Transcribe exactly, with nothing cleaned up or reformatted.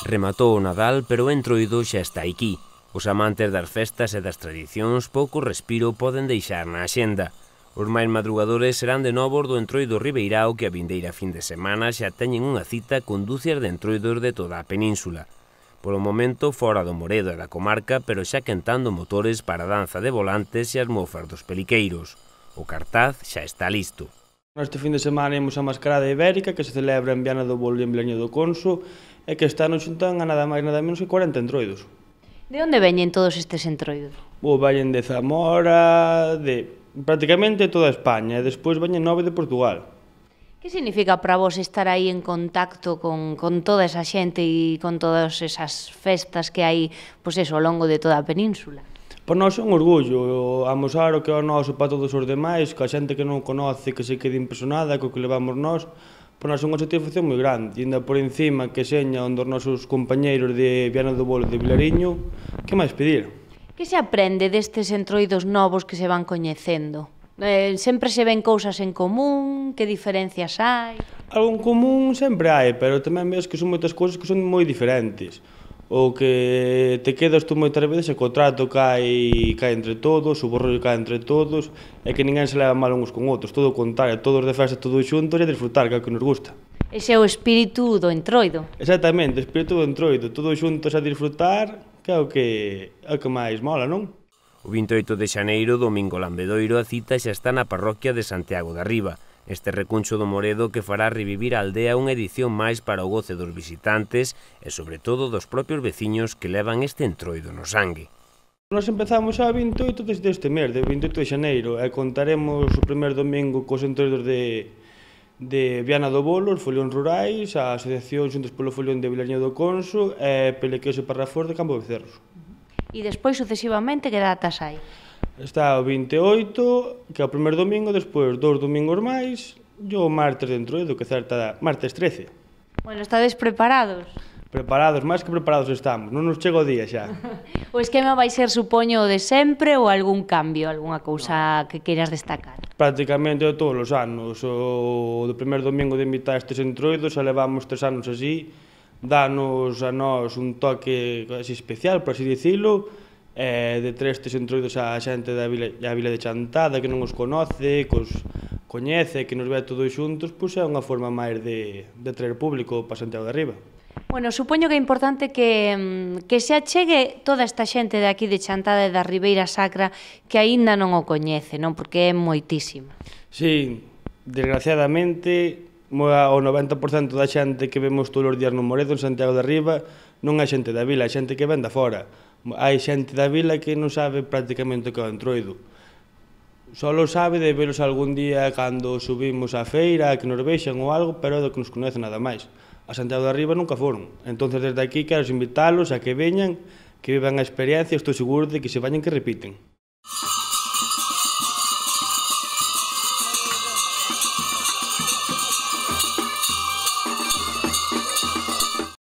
Rematou o Nadal, pero o Entroido xa está aquí. Os amantes das festas e das tradicións pouco respiro poden deixar na axenda. Os máis madrugadores serán de novo do Entroido Ribeirao, que a vindeira fin de semana xa teñen unha cita con dúcias de entroidos de toda a península. Polo momento fora do Moredo e da comarca, pero xa quentando motores para a danza de volantes e as mofas dos peliqueiros. O cartaz xa está listo. Este fin de semana imos a Mascarada Ibérica, que se celebra en Viana do Bolo e en Vilaña do Conso, e que este ano xuntan a nada máis nada menos que cuarenta entroidos. De onde veñen todos estes entroidos? Bo, veñen de Zamora, de prácticamente toda España, e despois veñen nove de Portugal. Que significa para vos estar aí en contacto con, con toda esa xente e con todas esas festas que hai, pois eso, ao longo de toda a península? Para nós é un orgullo amosar o que é o noso para todos os demais, que a xente que non conoce, que se quede impresionada co que levamos nós, para nós é unha satisfacción moi grande, e ainda por encima que seña onde os nosos compañeiros de Viana do Bolo e de Vilariño, que máis pedir? Que se aprende destes entroidos novos que se van coñecendo? Eh, sempre se ven cousas en común, que diferencias hai? Algo en común sempre hai, pero tamén ves que son moitas cousas que son moi diferentes. O que te quedas tú moitas veces é que o trato cae, cae entre todos, o borrollo cae entre todos, e que ninguén se leva mal uns con outros, todo o contrario, todos de festa, todos xuntos e disfrutar, que é o que nos gusta. Ese é o espírito do entroido. Exactamente, o espírito do entroido, todos xuntos a disfrutar, que é o que, é o que máis mola, non? O vinte e oito de xaneiro, domingo lambedoiro, a cita xa está na parroquia de Santiago da Riba. Este recuncho do Moredo que fará revivir a aldea unha edición máis para o goce dos visitantes e, sobre todo, dos propios veciños que levan este entroido no sangue. Nos empezamos a vinte e oito desde este mes, de vinte e oito de xaneiro, e contaremos o primeiro domingo cos entroidos de, de Viana do Bolo, os folións rurais, a asociación xuntos polo folión de Vilaña do Conso e Pelequeos e Parrafor de Campo de Becerros. E despois, sucesivamente, que datas hai? Está o vinte e oito, que é o primeiro domingo, despois dous domingos máis, e o martes de entroido, que certa martes trece. Bueno, estades preparados? Preparados, máis que preparados estamos, non nos chega o día xa. O esquema vai ser, supoño, o de sempre ou algún cambio, algunha cousa que queiras destacar? Prácticamente todos os anos, o do primeiro domingo de invitar estes entroidos, xa levamos tres anos así, danos a nós un toque así especial, por así dicilo, e de tres estes entroidos a xente da vila, da vila de Chantada que non os conoce, que os coñece, que nos ve todos xuntos, pois é unha forma máis de, de traer público para Santiago de Riba. Bueno, supoño que é importante que, que se achegue toda esta xente de aquí de Chantada e da Ribeira Sacra que aínda non o coñece, non? Porque é moitísima. Sí, desgraciadamente, o noventa por cento da xente que vemos todos os días no Moredo, en Santiago de Riba, non é xente da vila, é xente que ven da fora. Hai xente da vila que non sabe prácticamente o que é o entroido. Só lo sabe de velos algún día cando subimos á feira, que nos vexan ou algo, pero é do que nos conoce nada máis. A Santiago de Riba nunca foron. Entonces, desde aquí, quero invitálos a que veñan, que vivan a experiencia, estou seguro de que se vayan que repiten.